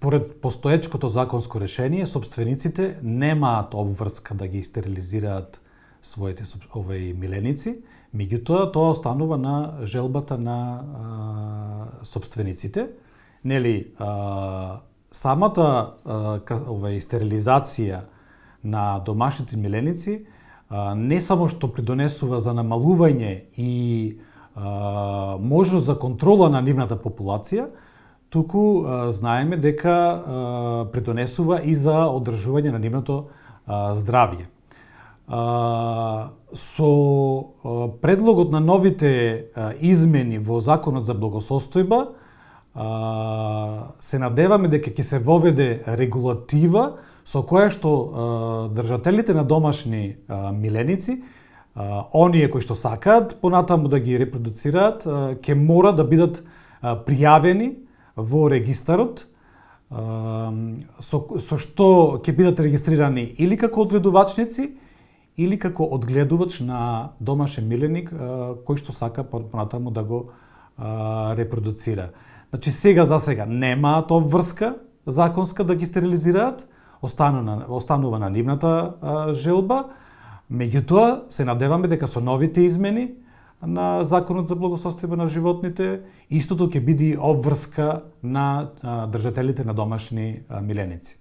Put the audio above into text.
според постоечкото законско решение, собствениците немаат обврска да ги стерилизираат своите миленици, меѓутоа тоа останува на желбата на собствениците. Нели, самата стерилизација на домашните миленици не само што придонесува за намалување и можност за контрола на нивната популација, туку знаеме дека придонесува и за одржување на нивното здравје. Со предлогот на новите измени во Законот за благосостојба се надеваме дека ќе се воведе регулатива со која што држателите на домашни миленици, оние кои што сакаат понатаму да ги репродуцираат, ќе мора да бидат пријавени во регистарот, со што ќе бидат регистрирани или како одгледувачници, или како одгледувач на домашен миленик кој што сака понатаму да го репродуцира. Значи за сега немаат обврска законска да ги стерилизираат, останува на нивната желба, меѓутоа се надеваме дека со новите измени на Законот за благосостојба на животните, истото ќе биде обврска на држателите на домашни миленици.